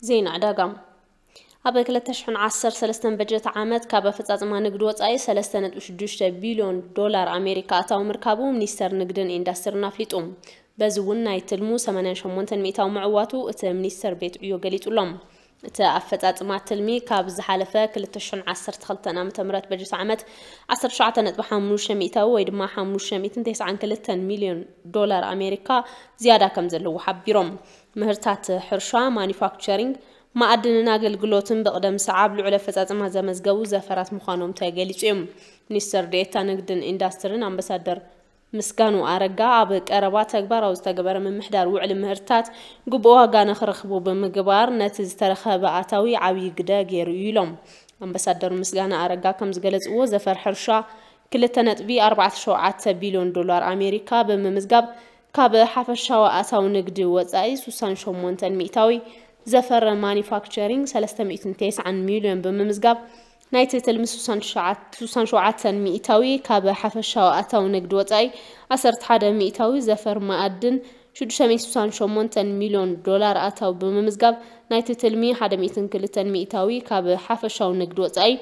ዜና ዕዳጋ። ኣብ ክልተ ሽሕን ዓሰርተ ሰለስተን በጀት ዓመት ካብ ኣፈጻጽማ ንግዲ ወጻኢ ሰለስተ ነጥቢ ሽዱሽተ ቢልዮን ዶላር ኣሜሪካ ኣታዊ ምርካቡ ሚኒስተር ንግድን ኢንዳስትሪን ኣፍሊጡ። በዚ እውን ናይ ትልሙ ሰማንያን ሸሞንተን ሚእታዊ ምዕዋቱ እቲ ሚኒስተር ቤት ዕዮ ገሊጹ ኣሎ። እቲ ኣፈጻጽማ ትልሚ ካብ ዝሓለፈ ክልተ ሽሕን ዓሰርተ ክልተን ዓመተ ምህረት በጀት ዓመት ዓሰርተ ትሽዓተ ነጥቢ ሓሙሽተ ሚእታዊ ወይ ድማ ሓሙሽተ ሚእትን ተስዓን ክልተን ሚልዮን ዶላር ኣሜሪካ ዝያዳ ከም ዘለዎ ሓቢሮም። ምህርታት ሕርሻ፣ ማኒፋክቸሪንግ፣ መኣድንን ኣገልግሎትን ብቕደም ሰዓብ ልዑል ኣፈጻጽማ ዘመዝገቡ ዘፈራት ምዃኖም ተገሊጹ እዩ። ሚኒስትር ዴኤታ ንግድን ኢንዳስትሪን ኣምባሳደር ምስጋኑ ኣረጋ ኣብ ቀረባ ተግባራዊ ዝተገበረ ምምሕዳር ውዕሊ ምህርትታት ግቡእ ዋጋ ንኽረኽቡ ብምግባር ነቲ ዝተረኸበ ኣታዊ ዓብዪ ግደ ገይሩ እዩ ኢሎም። ኣምባሳደር ምስጋኑ ኣረጋ ከም ዝገለጽዎ ዘፈር ሕርሻ ክልተ ነጥቢ ኣርባዕተ ሸውዓተ ቢልዮን ዶላር ኣሜሪካ ብምምዝጋብ ካብ ሓፈሻዊ ኣታዊ ንግዲ ወጻኢ ስሳን ሸሞንተን ሚእታዊ፣ ዘፈር ማኒፋክቸሪንግ ሰለስተ ሚእትን ተስዓን ሚልዮን ብምምዝጋብ ናይቲ ትልሚ ስሳን ሸውዓተ ሚእታዊ፣ ካብ ሓፈሻዊ ኣታዊ ንግዲ ወጻኢ ዓሰርተ ሓደ ሚእታዊ፣ ዘፈር መኣድን ሽዱሽተ ሚእትን ስሳን ሸሞንተን ሚልዮን ዶላር ኣታዊ ብምምዝጋብ ናይቲ ትልሚ ሓደ ሚእትን ክልተን ሚእታዊ፣ ካብ ሓፈሻዊ ንግዲ ወጻኢ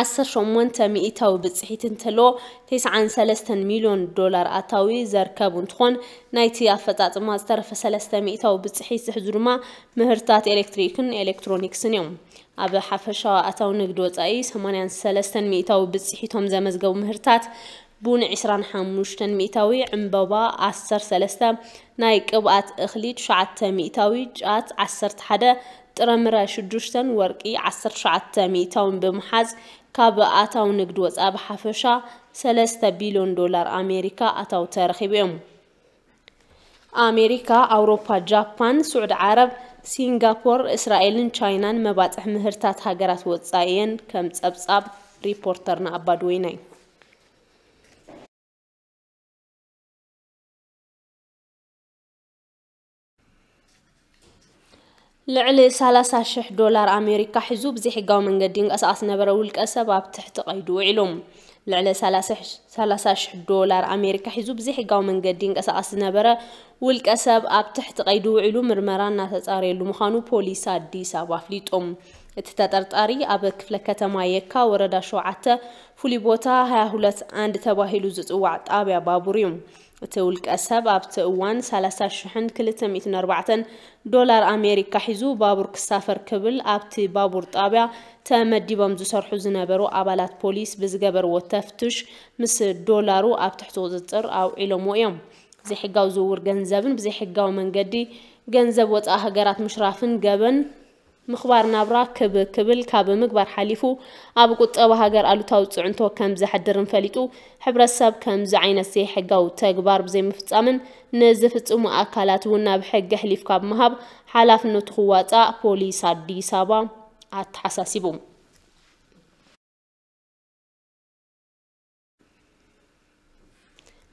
ዓሰርተ ሸሞንተ ሚእታዊ ብጽሒት እንተሎ፣ ተስዓን ሰለስተን ሚልዮን ዶላር ኣታዊ ዘርከቡ እንትኾን፣ ናይቲ ኣፈጻጽማ ዝተረፈ ሰለስተ ሚእታዊ ብጽሒት ዝሕዙ ድማ ምህርታት ኤሌክትሪክን ኤሌክትሮኒክስን እዮም። ኣብ ሓፈሻዊ ኣታዊ ንግዲ ወጻኢ ሰማንያን ሰለስተን ሚእታዊ ብጽሒቶም ዘመዝገቡ ምህርታት ቡን ዕስራን ሓሙሽተን ሚእታዊ፣ ዕምበባ ዓሰርተ ሰለስተ፣ ናይ ቅብኣት እኽሊ ትሽዓተ ሚእታዊ፣ ጫት ዓሰርተ ሓደ፣ ጥረምረ ሽዱሽተን ወርቂ ዓሰርተ ትሽዓተ ሚእታውን ብምሓዝ ካብ ኣታዊ ንግዲ ወጻኢ ብሓፈሻ ሰለስተ ቢልዮን ዶላር ኣሜሪካ ኣታዊ ተረኺቡ እዮም። ኣሜሪካ፣ ኣውሮፓ፣ ጃፓን፣ ስዑዲ ዓረብ፣ ሲንጋፖር፣ እስራኤልን ቻይናን መባጽሕ ምህርታት ሃገራት ወጻኢ እየን ከም ጸብጻብ ሪፖርተርና ኣባድወይናይ። ልዕሊ ሰላሳ ሽሕ ዶላር ኣሜሪካ ሒዙ ብዘይሕጋዊ መንገዲ ይንቀሳቐስ ዝነበረ ውልቀ ሰብ ኣብ ትሕቲ ቀይዲ ውዒሉ። ልዕሊ ሰላሳ ሽሕ ዶላር ኣሜሪካ ሒዙ ብዘይሕጋዊ መንገዲ ይንቀሳቐስ ዝነበረ ውልቀ ሰብ ኣብ ትሕቲ ቀይዲ ውዒሉ ምርመራ እናተጻረየሉ ምዃኑ ፖሊስ ኣዲስ ኣበባ ኣፍሊጡ። እቲ ተጠርጣሪ ኣብ ክፍለ ከተማ የካ ወረዳ ሸውዓተ ፍሉይ ቦታ ሃያ ሁለት ኣንድ ተባሂሉ ዝጽዋዕ ጣብያ ባቡር እዩ። እቲ ውልቀ ሰብ ኣብቲ እዋን ሰላሳ ሽሕን ክልተ ሚእትን ኣርባዕተን ዶላር ኣሜሪካ ሒዙ ባቡር ክሳፈር ክብል ኣብቲ ባቡር ጣብያ ተመዲቦም ዝሰርሑ ዝነበሩ ኣባላት ፖሊስ ብዝገበርዎ ተፍትሽ ምስ ዶላሩ ኣብ ትሕቲ ቁጽጽር ኣውዒሎምዎ እዮም። ዘይሕጋዊ ዝውውር ገንዘብን ብዘይሕጋዊ መንገዲ ገንዘብ ወጻኢ ሃገራት ምሽራፍን ገበን ምኽባር ናብራ ክብ ክብል ካብ ምግባር ሓሊፉ ኣብ ቁጠባ ሃገር ኣሉታዊ ጽዕንቶ ከም ዘሕድርን ፈሊጡ፣ ሕብረተሰብ ከምዚ ዓይነት ዘይሕጋዊ ተግባር ብዘይምፍጻምን ንዝፍጽሙ ኣካላት እውን ናብ ሕጊ ኣሕሊፍካ ብምሃብ ሓላፍነቱ ክዋጻእ ፖሊስ ኣዲስ ኣበባ ኣተሓሳሲቡ።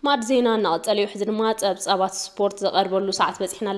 ማዕድ ዜና እናቐጸለ እዩ። ሕዚ ድማ ጸብጻባት ስፖርት ዝቐርበሉ ሰዓት በጺሕና።